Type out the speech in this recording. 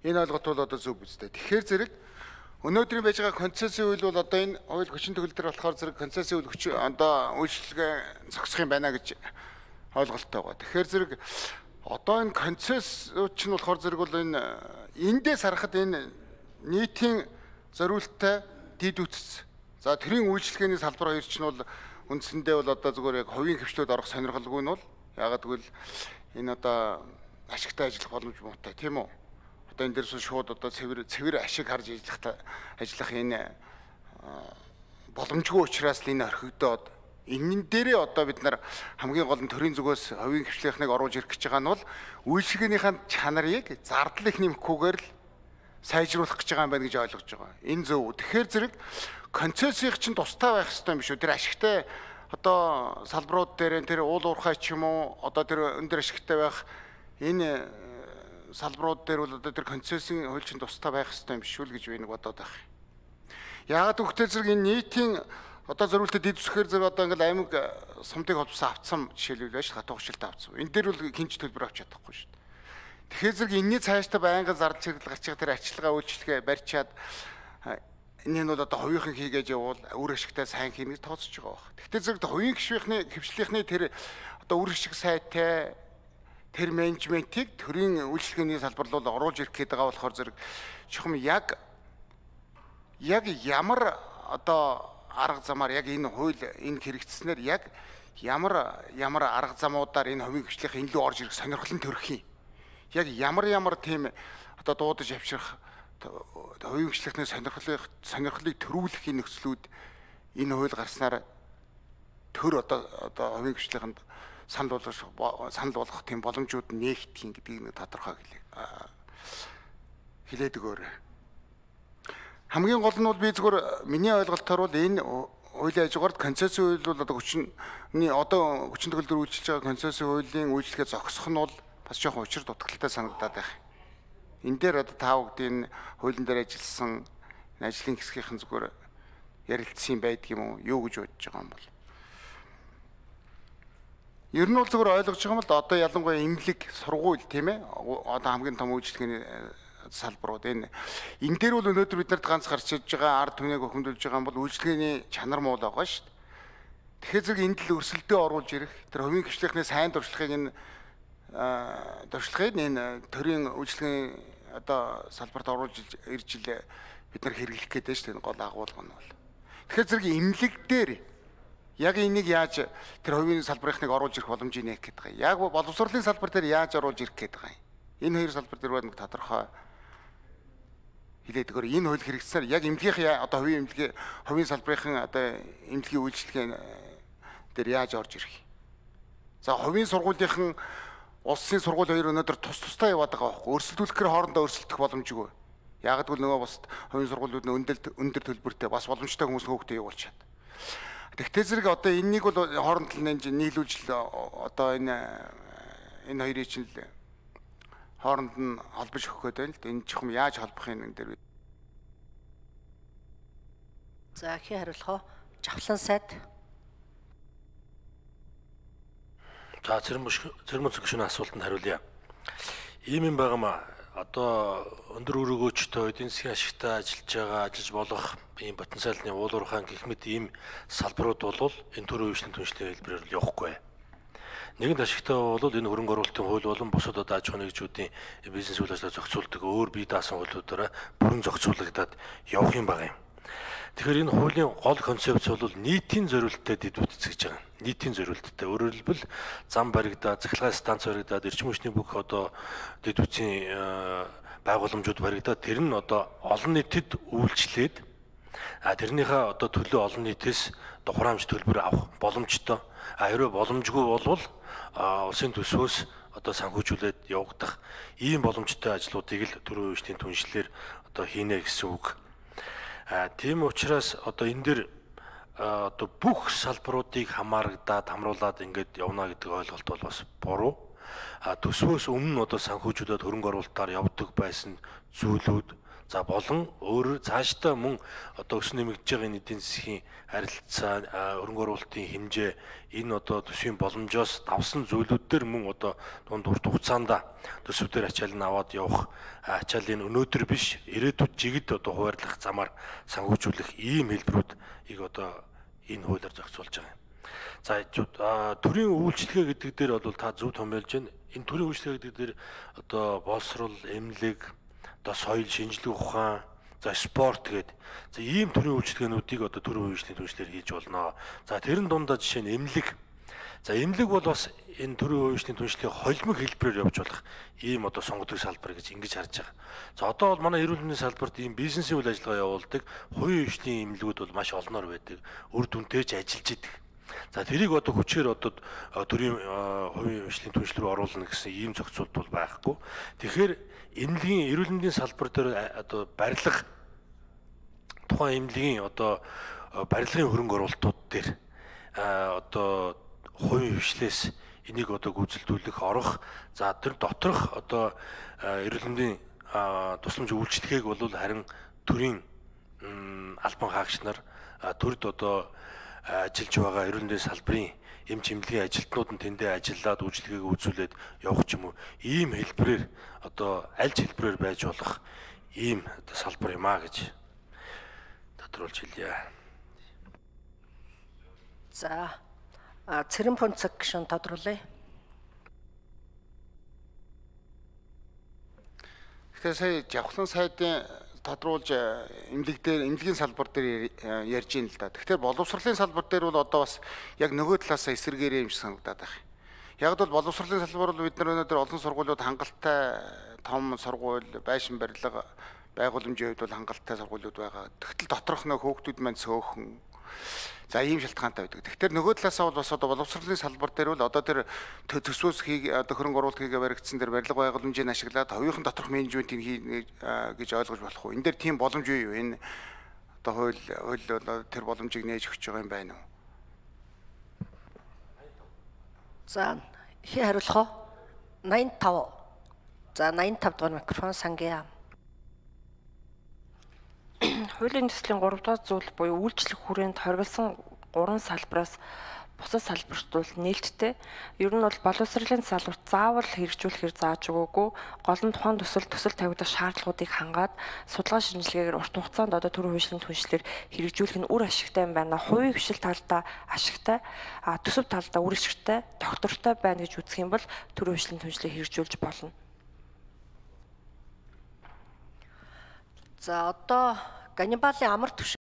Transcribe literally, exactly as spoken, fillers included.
Энэ ойлголт бол одоо зөв үстэй. Тэгэхээр зэрэг өнөөдрийн байж байгаа концессийн үйл бол одоо энэ хууль хүчин төгөлдөр болохоор зэрэг концессийн үйл хүч одоо үйлчлэгээ зогсох юм байна гэж ойлголттой байгаа. Тэгэхээр зэрэг одоо энэ концессч нь болохоор зэрэг бол энэ эндээс харахад энэ нийтийн зориулттай дид үтц. За тэрийн үйлчлэгээний салбар хоёр ч нь бол үндсэндээ бол одоо зүгээр яг хувийн хвшлүүд орох сонирхолгүй нь бол ягаад гэвэл энэ одоо ашигтай ажиллах боломж муутай тийм үү? Одоо энэ дээрс шууд одоо цэвэр цэвэр ашиг харж ажиллах ажиллах энэ боломжгүй учраас л энэ орхигдоод энэ дээрээ одоо бид нар хамгийн гол нь төрийн зүгээс хувийн хвшлийнхныг оруулж ирэх гэж байгаа нь бол үйлчлэгээнийхэн чанарыг зардал их нэмэхгүйгээр л сайжруулах гэж байгаа юм байна гэж ойлгож байгаа. Энэ зөв. Тэгэхээр зэрэг концессийнх чинь тустай байх хэрэгтэй юм биш үү? Тэр ашигтай одоо салбарууд дээр тэр уул уурхай ч юм уу одоо тэр өндөр ашигтай байх энэ салбарууд дээр бол одоо тэр концессийн хууль чинь тустай байх хэрэгтэй юм биш үү гэж би нэг бодоод байх. Яагаад гэвэл зэрэг энэ нийтийн одоо зориултад дид үсгээр зэрэг одоо ингээл аймаг сумдыг холбосон авцсан жишээлбэл байж хатуу хурцлалт авцсан. Энэ дээр бол хинч төлбөр авч чадахгүй шүү дээ. Тэгэхээр зэрэг энэний цаашдаа байнгын зардал чиглэл гарч байгаа тэр арчилгаа үйлчлэгээ барьчаад энэ нь бол одоо хувийнхан хийгээд явуул үр ашигтай сайн хийнэ гэж тооцож байгаа баг. Гэхдээ зэрэг хувийн гишүүхний хвшлийнхний тэр одоо үр ашиг сайтай тэр менежментийг төрийн үйлчлэгээний салбар руу оруулж ирэх гээд байгаа болохоор зэрэг чухам яг яг ямар одоо арга замаар яг энэ хууль энэ хэрэгжснээр яг ямар ямар арга замуудаар энэ хувийн гишүүхийн илүү орж ирэх сонирхол нь төрөх юм. Яг ямар ямар тийм одоо дуудаж авчрах хувийн гишүүхний сонирхлыг сонирхлыг төрүүлэх энэ нөхцлүүд энэ хууль гарснаар төр одоо одоо хувийн гишүүхэнд санал болгох санал болгох тийм боломжууд нээгдэх гэдгийг нэг тодорхой хэлээд өгөөрэй. Хамгийн гол нь бол би зүгээр миний ойлголтоор бол энэ хуулийн хажуугаар концессийн хууль бол одоо хүчний одоо хүчин төгөлдөр үйлчилж байгаа концессийн хуулийн үйлчлэгээ зогсох нь бол бас жоохон учир дутагдaltaй санагдаад байна. Энэ дээр одоо та бүгдийн хуулийн дээр ажилласан ажлын хэсгийнхэн зүгээр ярилцсан байдаг юм уу? Юу гэж бодож байгаа юм бол? Ер нь бол зүгээр ойлгож байгаа юм л да одоо ялангуяа эмнэлэг сургууль тийм ээ одоо хамгийн том үйлчлэгээний салбарууд энэ энэ дээр бол өнөөдөр бид нарт ганц гарч иж байгаа ард түмнийг хөхөмдүүлж байгаа юм бол үйлчлэгээний чанар муу л байгаа шүү дээ. Тэгэхээр зэрэг энд л өрсөлдөө оруулж ирэх тэр хувийн гишүүхний сайн дуршлагыг энэ дуршлагыг энэ төрийн үйлчлэгээний одоо салбарт оруулж ирж ил бид нар хэрэглэх гэдэг шүү дээ гол агуулга нь бол. Тэгэхээр зэрэг эмнэлэг дээр яг энийг яаж тэр хувийн салбарынхныг оруулж ирэх боломжийг нээх гэдэг байгаа. Яг боловсролын салбар дээр яаж оруулж ирэх гэдэг байгаа. Энэ хоёр салбар дээр нэг тодорхой хэлээд өгөр энэ хууль хэрэгжсээр яг эмнэлгийн одоо хувийн эмнэлгийн хувийн салбарын одоо эмнэлгийн үйлчлэгээ дээр яаж орж ирэх. За хувийн сургуулийнхан улсын сургууль хоёр өнөөдөр тус тустай яваад байгаа байхгүй. Өрсөлдүүлэхээр хоорондоо өрсөлдөх боломжгүй. Яг гэвэл нөгөө бас хувийн сургуулиуд нь өндөр өндөр төлбөртэй бас боломжтой хүмүүс хөөгтэй явуулчаад. Тэгтээ зэрэг одоо энэнийг бол хооронд нь нийлүүлж одоо энэ энэ хоёрыг чинь л хооронд нь холбож өгөх гээд байна л да. Энэ чухам яаж холбох юм энэ дээр. За хий хариулах уу? Жавхлан сайд. За цэрэн цэрэн зөвшөөрлийн асуултанд хариулъя. Ийм юм байгаамаа. Одоо өндөр өрөөгөөчтэй эдийн засгийн ашигтай ажиллаж байгаа ажиллаж болох ийм потенциалны уулуурхаан гэх мэт ийм салбарууд бол энэ төрийн үйлчлэлийн түншлэлийн хэлбэрээр л явахгүй. Нэгэн ашигтай бол энэ хөрөнгө оруулалтын хууль болон бусад одоо аж ахуйн нэгжүүдийн бизнес үйл ажиллагаа зохицуулдаг өөр бие даасан хуулиудаараа бүрэн зохицуулагдаад явах юм байна. Тэгэхээр энэ хуулийн гол концепц бол нийтийн зориулттай дэд бүтц гэж байгаа. Нийтийн зориулттай. Өөрөөр хэлбэл зам баригдаад, цахилгаан станц баригдаад, эрчим хүчний бүх одоо дэд бүтцийн байгууламжууд баригдаад тэр нь одоо олон нийтэд үйлчлээд а тэрнийхээ одоо төлөө олон нийтээс тухраамж төлбөр авах боломжтой. А хэрвээ боломжгүй болвол улсын төсвөөс одоо санхүүжүүлээд явагдах ийм боломжтой ажлуудыг л төрийн үйлчлэлийн түншлэлээр одоо хийнэ гэсэн үг. А тийм учраас одоо энэ дэр одоо бүх салбаруудыг хамаарагдаад хамруулад ингээд явна гэдэг ойлголт бол бас буруу. А төсвөөс өмнө одоо санхүүжүүлээд хөрөнгө оруулалтаар явдаг байсан зүйлүүд За болон өөрөөр цаашдаа мөн одоо өс нэмэгдэж байгаа энэ эдийн засгийн харилцаа, хөрөнгө оруулалтын хэмжээ энэ одоо төсвийн боломжоос давсан зүйлүүд дээр мөн одоо дунд урт хугацаанд төсөв дээр ачаал нь аваад явах ачаалын өнөөдөр биш ирээдүйд жигд одоо хуваарлах замаар санхүүжүүлэх ийм хэлбэрүүдийг одоо энэ хуулиар зохицуулж байгаа юм. За төрийн үйлчлэгээ гэдэг дээр бол та зөв томьёолж байна. Энэ төрийн үйлчлэгээ гэдэг дээр одоо боловсрол, эмнэлэг, одоо соёл, шинжлэх ухаан, за спорт гэдэг. За ийм төрлийн үйлчлэгээнүүдийг одоо төрийн үйлчлэлийн түвшлэр хийж болно. За тэрэн дундаа жишээ нь эмнэлэг. За эмнэлэг бол бас энэ төрийн үйлчлэлийн түвшлийн холимог хэлбэрээр явж болох ийм одоо сонгодог салбар гэж ингэж харж байгаа. За одоо бол манай эрүүл мэндийн салбарт ийм бизнесийн үйл ажиллагаа явуулдаг хувийн хвшлийн эмнэлгүүд бол маш олноор байдаг. Үр дүнтэй ч ажиллаж идэг. За тэрийг одоо хүчээр одоо төрийн хувийн хвшлийн түвшил рүү оруулна гэсэн ийм зохицуулт бол байхгүй. Тэгэхээр эмнэлгийн эрүүл мэндийн салбар дээр одоо барилга тухайн эмнэлгийн одоо барилгын хөрөнгө оруулалтууд дээр одоо хувийн хвшлээс энийг одоо гүйцэлдүүлэх, орох, за тэр доторх одоо эрүүл мэндийн тусламж үйлчлэгээг бол харин төрийн албан хаагч нар төрд одоо ажиллаж байгаа эрүүл мэндийн салбарын эм чимлэгийн ажилтнууд нь тэндээ ажиллаад үйлчлэгийг үзүүлээд явах ч юм уу ийм хэлбэрээр одоо аль ч хэлбэрээр байж болох ийм одоо салбар юм а гэж тодруулж хэлье. За Цэрэн Пунцэг гишүүн тодруулъя. Тэгэхээр сая Жавхлан сайдын тодруулж эмнэлэг дээр эмнэлгийн салбар дээр ярьж ийн л да. Тэгэхээр боловсролын салбар дээр бол одоо бас яг нөгөө талаас эсэргээрээ юм шиг санагдаад байна. Яг бол боловсролын салбар бол бид нар өнөөдөр олон сургуулиуд хангалттай том сургууль, байшин барилга, байгууламжийн хувьд бол хангалттай сургуулиуд байгаа. Тэгтэл доторх нөх хүүхдүүд маань цөөхөн. За ийм шалтгаантай байдаг. Тэгэхээр нөгөө талаасаа бол бас одоо боловсролын салбар дээр бол одоо тэр төсвөөс хийг одоо хөрөнгө оруулалт хийгээ баригдсан тэр барилга байгууламжийг ашиглаад хувийнхан доторх менежментийг хийнэ гэж ойлгож болох уу? Энэ дээр тийм боломж юу? Энэ одоо хууль хууль бол тэр боломжийг нээж өгч байгаа юм байна уу? За хий хариулах уу? найман и тав. За найман и тав дугаар микрофон Сангия. Хуулийн төслийн гурав дахь зүйл буюу үйлчлэх хүрээнд хоригдсан гурван салбараас бусад салбарт бол нээлттэй. Ер нь бол боловсролын салбарт заавал хэрэгжүүлэхээр зааж өгөөгүй. Гол нь тухайн төсөл төсөл тавигдах шаардлагуудыг хангаад судалгаа шинжилгээгээр урт хугацаанд одоо төрийн хвшлийн түвшлэр хэрэгжүүлэх нь үр ашигтай юм байна. Хувийн хвшил талдаа ашигтай, а төсөв талдаа үр ашигтай, доктортой байна гэж үзэх юм бол төрийн хвшлийн түвшлийг хэрэгжүүлж болно. За одоо Ганнибалын амар түвшин